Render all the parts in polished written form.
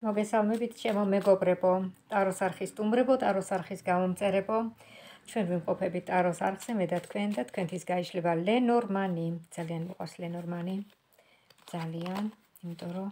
მოგესალმებით ჩემო მეგობრებო, ტაროს არხის სტუმრებო, ტაროს არხის გამომწერებო. ჩვენ ვიმყოფებით ტაროს არხზე, მე და თქვენთვის გაიშლება ლენორმანი. ძალიან მიყვარს ლენორმანი. ძალიან, იმიტომ რომ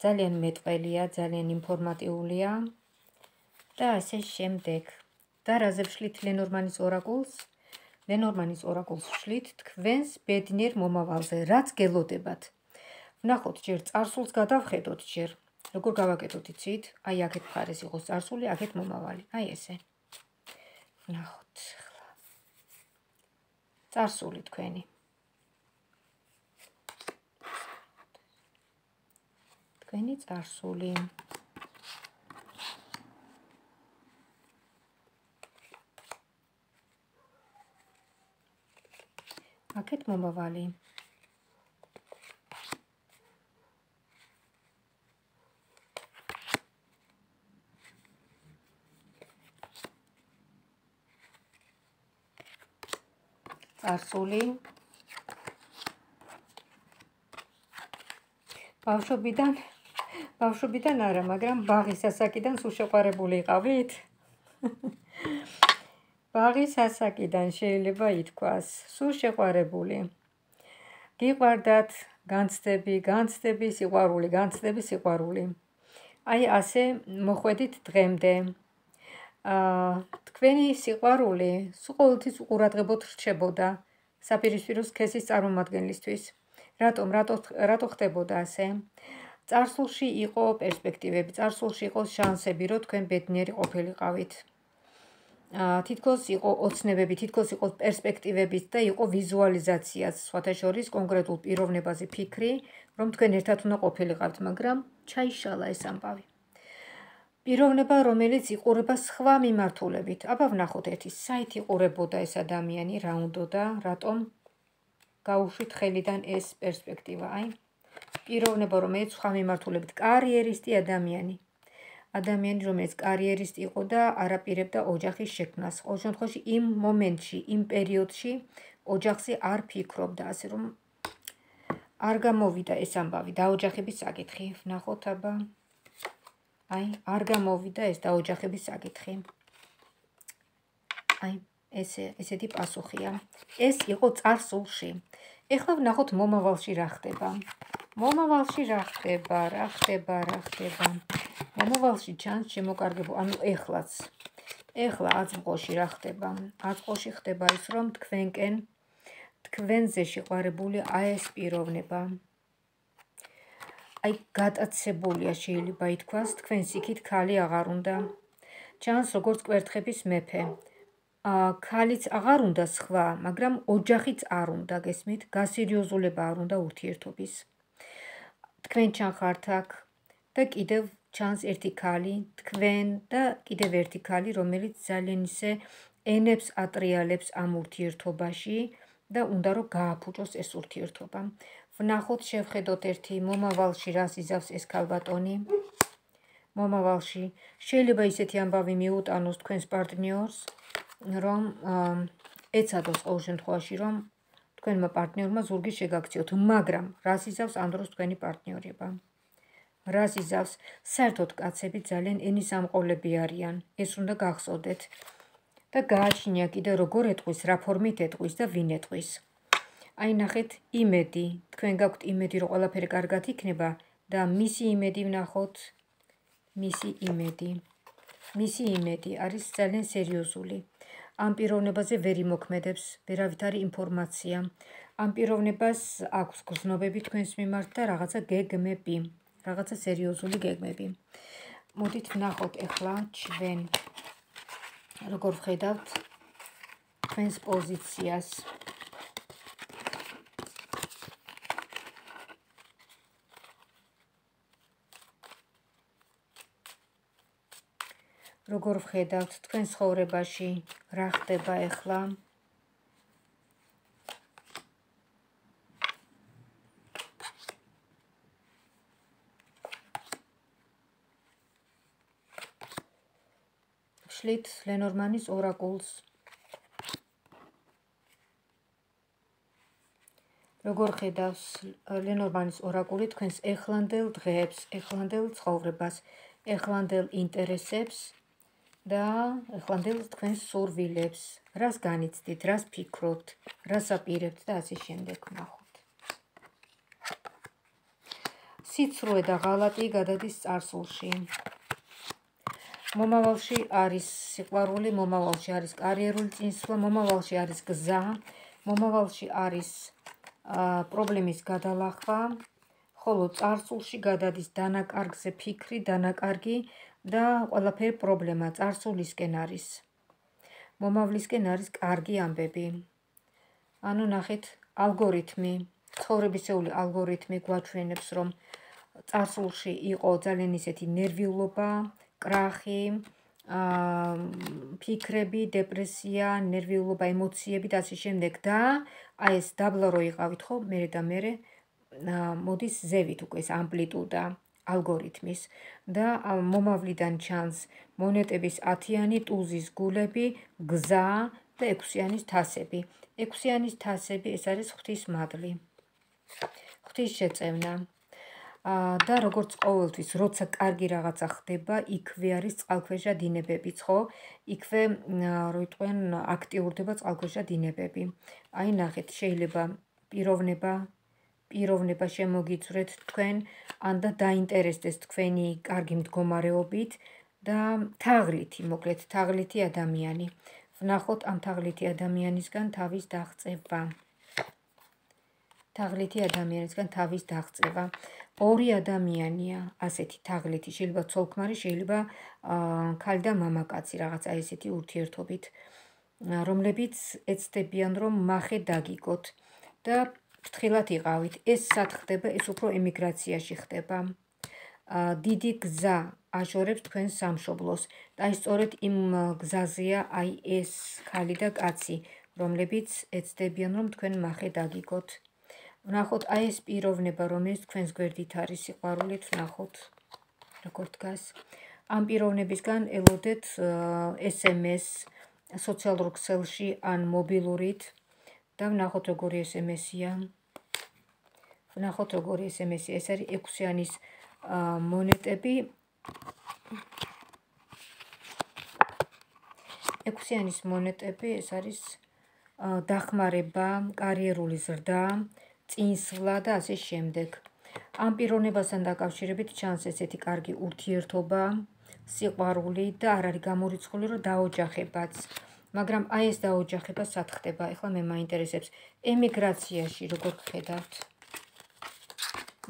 ძალიან მეტყველია, ძალიან ინფორმატიულია და ასე შემდეგ. და რაზე ვშლით ლენორმანის ორაკულს? ლენორმანის ორაკულს ვშლით თქვენს ბედნიერ მომავალზე, რაც გელოდებათ. ვნახოთ ჯერ წარსულს გადავხედოთ ჯერ. როგორ გავაკეთოთ იცით? აი აქეთ მხარეს იყოს წარსული, აქეთ მომავალი. აი ესე. ვნახოთ ახლა. წარსული თქვენი. თქვენი წარსული. აქეთ მომავალი. წარსული. ბავშვობიდან არა, მაგრამ ბაღის ასაკიდან სულ შეყვარებული იყავით? ბაღის ასაკიდან შეიძლება ითქვას, სულ შეყვარებული. გიყვარდათ განცდები, სიყვარული. აი ასე მოხვედით დღემდე. თქვენი სიყვარული სულ ყოველთვის უყურადღებოდ რჩებოდა საპირისპირო სქესის წარმომადგენლისთვის. რატო ხდებოდა ასე? წარსულში იყო პერსპექტივები, წარსულში იყო შანსები, რომ თქვენ ბედნიერი ყოფილიყავით. თითქოს იყო ოცნებები, თითქოს იყო პერსპექტივებიც და იყო ვიზუალიზაციაც, სხვათა შორის კონკრეტულ პიროვნებაზე ფიქრი, რომ თქვენ ერთად უნდა ყოფილიყავთ, მაგრამ ჩაიშალა ეს ამბავი. პიროვნება, რომელიც იყურება სხვა მიმართულებით. აბა ვნახოთ ერთი, საით იყურებოდა ეს ადამიანი, რა უნდოდა, რატომ გაუშვით ხელიდან ეს პერსპექტივა. აი, პიროვნება, რომელიც სხვა მიმართულებით, კარიერისტი ადამიანი, რომელიც კარიერისტი იყო და არაპირებდა ოჯახის შექმნას. ყოველ შემთხვევაში იმ მომენტში, იმ პერიოდში ოჯახზე არ ფიქრობდა, ასე რომ არ გამოვიდა ეს ამბავი დაოჯახების საკითხი. ვნახოთ აბა. აი, არ გამოვიდა ეს დაოჯახების საკითხი. აი, ესეთი პასუხია. ეს იყო წარსულში. ეხლა ვნახოთ მომავალში რა ხდება. მომავალში რა ხდება. მომავალში ჩანს შემოკარგებო, ანუ ეხლაც. ეხლა აწმყოში რა ხდება? აწმყოში ხდება ის, რომ თქვენზე შეყვარებული აი ეს პიროვნება. აი, გატაცებულია შეიძლება ითქვას, თქვენს იქით ქალი აღარ უნდა. ჩანს როგორც კვერთხების მეფე. ქალიც აღარ უნდა სხვა, მაგრამ ოჯახიც არ უნდა, გესმით? გასერიოზულება არ უნდა ურთიერთობის. თქვენ ჩანხართ აქ და კიდევ ჩანს ერთი ქალი, თქვენ და კიდევ ერთი ქალი, რომელიც ძალიან ისე ენებს ატრიალებს ამ ურთიერთობაში და უნდა რომ გააფუჭოს ეს ურთიერთობა. ვნახოთ, შევხედოთ ერთი მომავალში რას იზავს ეს ქალბატონი. მომავალში შეიძლება ისეთი ამბავი მიუტანოს თქვენს პარტნიორს, რომ ეცადოს ყოველ შემთხვევაში, რომ თქვენმა პარტნიორმა ზურგი შეგაქციოთ, მაგრამ რას იზავს ამ დროს თქვენი პარტნიორება? რას იზავს? საერთოდ კაცები ძალიან ენის ამყოლები არიან, ეს უნდა გახსოვდეთ და გააჩნია კიდე როგორ ეტყვის, რა ფორმით ეტყვის და ვინ ეტყვის. აი, ნახეთ, იმედი, თქვენ გაქვთ იმედი, რომ ყველაფერი კარგად იქნება და მისი იმედი ვნახოთ, მისი იმედი არის ძალიან სერიოზული. ამ პიროვნებაზე ვერ იმოქმედებს, ვერავით არის ინფორმაცია. ამ პიროვნებას აქვს გრძნობები თქვენს მიმართ და რაღაცა გეგმები, რაღაცა სერიოზული გეგმები. მოდით ვნახოთ ეხლა ჩვენ როგორ ვხედავთ თქვენს პოზიციას. როგორ ვხედავთ თქვენ ცხოვრებაში რა ხდება ეხლა? ვშლით ლენორმანის ორაკულს. როგორ ხედავს ლენორმანის ორაკული თქვენს ეხლანდელ დღეებს, ეხლანდელ ცხოვრებას, ეხლანდელ ინტერესებს და ეხლანდელ თქვენს სურვილებს, რას განიცდით, რას ფიქრობთ, რას აპირებთ და ასე შემდეგ ვნახოთ. სიცრუე და ღალატი გადადის წარსულში. მომავალში არის სიყვარული, მომავალში არის კარიერული წინსვლა, მომავალში არის გზა, მომავალში არის პრობლემის გადალახვა, ხოლო წარსულში გადადის დანაკარგზე ფიქრი, დანაკარგი და ყველაფერი პრობლემა წარსულისკენ არის. მომავლისკენ არის კარგი ამბები. ანუ ნახეთ, ალგორითმი, ცხოვრებისეული ალგორითმი გვაჩვენებს, რომ წარსულში იყო ძალიან ისეთი ნერვიულობა, კრახი, ფიქრები, დეპრესია, ნერვიულობა, ემოციები და ასე შემდეგ და აი ეს დაბლა რო იყავით ხო, მერე და მერე მოდის ზევით უკვე ეს ამპლიტუდა ალგორითმის და მომავლიდან ჩანს მონეტების 10-იანი, ტუზის გულები, გზა და 6-яნის თასები. 6-яნის თასები ეს არის ღვთის მადლი, ღვთის შეწევნა. და როგორც ყოველთვის, როცა კარგი რაღაცა ხდება, იქვე არის წყალქვეშა დინებებიც, ხო? იქვე, რო იტყვიან, აქტიურდება წყალქვეშა დინებები. აი ნახეთ, შეიძლება პიროვნება შემოგიწვრეთ თქვენ, ან და დაინტერესდეს თქვენი კარგი მდგომარეობით და თაღლითი, მოკლედ, თაღლითი ადამიანი. ვნახოთ ამ თაღლითი ადამიანისგან თავის დაღწევა. თაღლითი ადამიანისგან თავის დაღწევა. ორი ადამიანია ასეთი თაღლითი, შეიძლება ცოლ-ქმარი, შეიძლება ქალი და მამაკაცი, რაღაც აი ესეთი ურთიერთობით, რომლებიც ეცდებიან, რომ მახე დაგიგოთ და ფრთხილად იყავით. ეს სად ხდება? ეს უფრო ემიგრაციაში ხდება. დიდი გზა აშორებს თქვენ სამშობლოს და აი სწორედ იმ გზაზეა აი ეს ქალი და კაცი, რომლებიც ეცდებიან, რომ თქვენ მახე დაგიგოთ. ვნახოთ აი ეს პიროვნება, რომელიც თქვენს გვერდით არის სიყვარულით, ვნახოთ როგორ დგას. ამ პიროვნებისგან ელოდეთ SMS სოციალურ ქსელში ან მობილურით და ვნახოთ როგორი SMS-ია. ვნახოთ როგორი SMS-ია. ეს არის 6-яნის მონეტები. 6-яნის მონეტები ეს არის დახმარება, კარიერული ზრდა, წინსვლა და ასე შემდეგ. ამ პიროვნებასთან დაკავშირებით ჩანს ესეთი კარგი ურთიერთობა, სიყვარული და არ არის გამორიცხული, რომ დაოჯახებაც. მაგრამ აი ეს დაოჯახება სად ხდება? ეხლა მე მაინტერესებს ემიგრაციაში როგორ ხედავთ?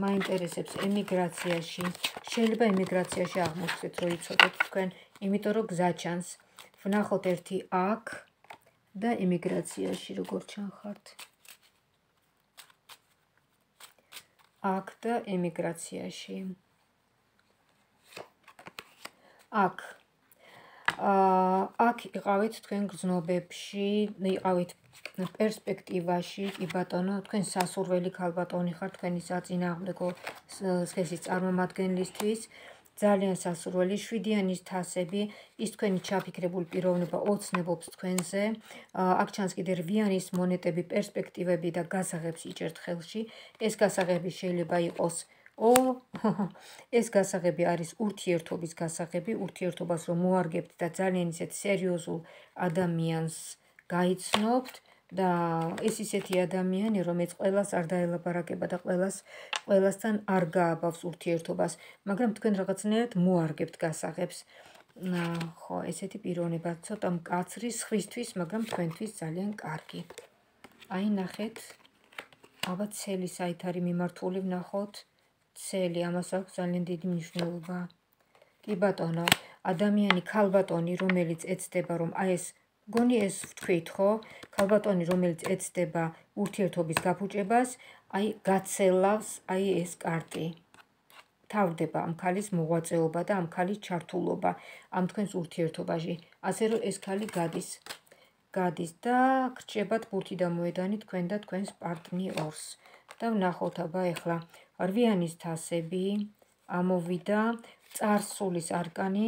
მაინტერესებს ემიგრაციაში. შეიძლება ემიგრაციაში აღმოჩნდეთ, რომ იცოდეთ თქვენ, იმიტომ რომ გზა ჩანს. ვნახოთ ერთი აქ და ემიგრაციაში როგორ ჩანხართ. აქ და ემიგრაციაში. აქ იყავით თქვენ გზნობებში, იყავით პერსპექტივაში, კი ბატონო, თქვენ სასურველი ქალბატონი ხართ თქვენი საწინააღმდეგო სქესის წარმომადგენლისთვის. ძალიან სასურველი 7-яნის თასები, ის თქვენი ჩაფიქრებული პიროვნება ოცნებობს თქვენზე. აქ ჩანს კიდე 8-яნის მონეტები, პერსპექტივები და გასაღებს იჭერთ ხელში. ეს გასაღები შეიძლება იყოს ეს გასაღები არის ურთიერთობის გასაღები, ურთიერთობას რომ მოარგებთ და ძალიან ისეთ სერიოზულ ადამიანს გაიცნობთ და ეს ისეთი ადამიანი, რომელიც ყველას არ დაელაპარაკება და ყველასთან არ გააბავს ურთიერთობას, მაგრამ თქვენ რაღაცნაირად მოარგებთ გასაღებს. ხო, ესეთი პიროვნება ცოტა მკაცრი სხვისთვის, მაგრამ თქვენთვის ძალიან კარგი. აი ნახეთ, ალბათ ცელი საით არის მიმართული, ვნახოთ. ცელი, ამას აქვს ძალიან დიდი მნიშვნელობა. კი ბატონო, ადამიანი, ქალბატონი, რომელიც ეცდება, რომ აი ეს გონი ეს ვთქვით, ხო? ქალბატონი, რომელიც ეცდება ურთიერთობის გაფუჭებას, აი გაცელავს აი ეს კარტი. თავდება ამ ქალის მოღვაწეობა და ამ ქალის ჩართულობა ამ თქვენს ურთიერთობაში. ასე რომ ეს ქალი გადის და გრჩებათ ბურთი და მოედანი თქვენ და თქვენს პარტნიორს. და ვნახოთ აბა ეხლა 8-яნის თასები ამოვიდა, წარსულის არკანი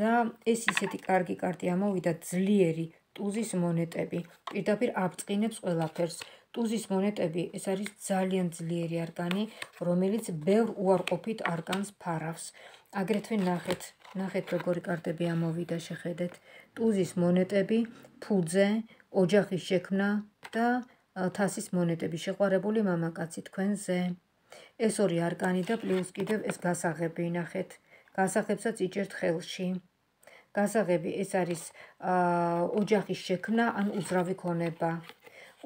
და ეს ისეთი კარგი კარტი ამოვიდა, ძლიერი ტუზის მონეტები. პირდაპირ აბწყინებს ყველაფერს. ტუზის მონეტები ეს არის ძალიან ძლიერი არკანი, რომელიც ბევრ უარყოფით არკანს ფარავს. აგრეთვე ნახეთ როგორი კარტები ამოვიდა, შეხედეთ. ტუზის მონეტები, ფუძე, ოჯახის შექმნა და თასის მონეტები, შეყვარებული მამაკაცი თქვენზე. ეს ორი არკანი და პლუს კიდევ ეს გასაღები, ნახეთ. გასაღებსაც იჭერთ ხელში. გასაღები ეს არის ოჯახის შექმნა ან უძრავი ქონება.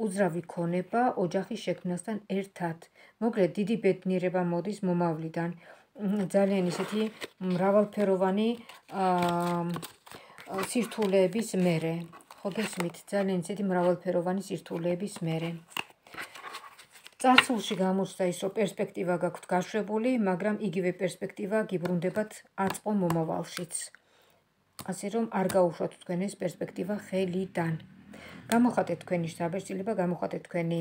უძრავი ქონება ოჯახის შექმნასთან ერთად. მოკლედ დიდი ბედნიერება მოდის მომავლიდან. ძალიან ისეთი მრავალფეროვანი სირთულეების მერე. ხო გესმით, ძალიან ისეთი მრავალფეროვანი სირთულეების მერე. წარსულში გამოჩნდა ის, რომ პერსპექტივა გაქვთ გაშვებული, მაგრამ იგივე პერსპექტივა გიბრუნდებათ აწყო მომავალშიც. ასე რომ არ გაუშვათ თქვენ ეს პერსპექტივა ხელიდან. გამოხატეთ თქვენი შთაბეჭდილება, გამოხატეთ თქვენი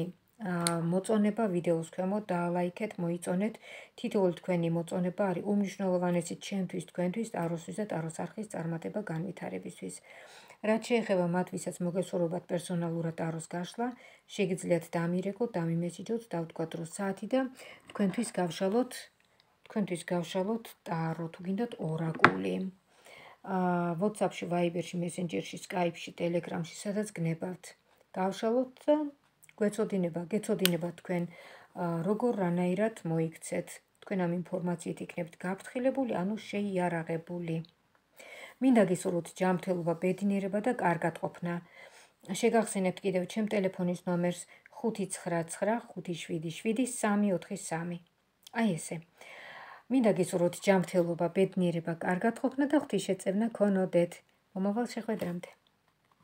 მოწონება ვიდეოს ქვემოთ, დაალაიქეთ, მოიწონეთ. თითოეული თქვენი მოწონება არის უმნიშვნელოვანესი ჩემთვის, თქვენთვის, ტაროსთვის და ტაროს არხის წარმატება განვითარებისთვის. რაც შეეხება მათ, ვისაც მოგესურვებათ პერსონალურად ტაროს გაშლა, შეგიძლიათ დამირეკოთ, დამიმესიჯოთ, დავთქვათ რომ საათი და თქვენთვის გავშალოთ ტარო, თუ გინდათ ორაკული. WhatsApp-ში, Viber-ში, Messenger-ში, Skype-ში, Telegram-ში, სადაც გნებავთ. გავშალოთ და გეცოდინება თქვენ როგორ რანაირად მოიქცეთ. თქვენ ამ ინფორმაციით იქნებით გაფრთხილებული, ანუ შეიარაღებული. მინდა გისურვოთ ჯანმრთელობა, ბედნიერება და კარგად ყოფნა. შეგახსენებთ კიდევ ჩემ ტელეფონის ნომერს 599577343. აი ესე. მინდა გისურვოთ ჯანმრთელობა, ბედნიერება, კარგად ყოფნა და ღვთისშეწევნა ქონოდეთ. მომავალ შეხვედრამდე.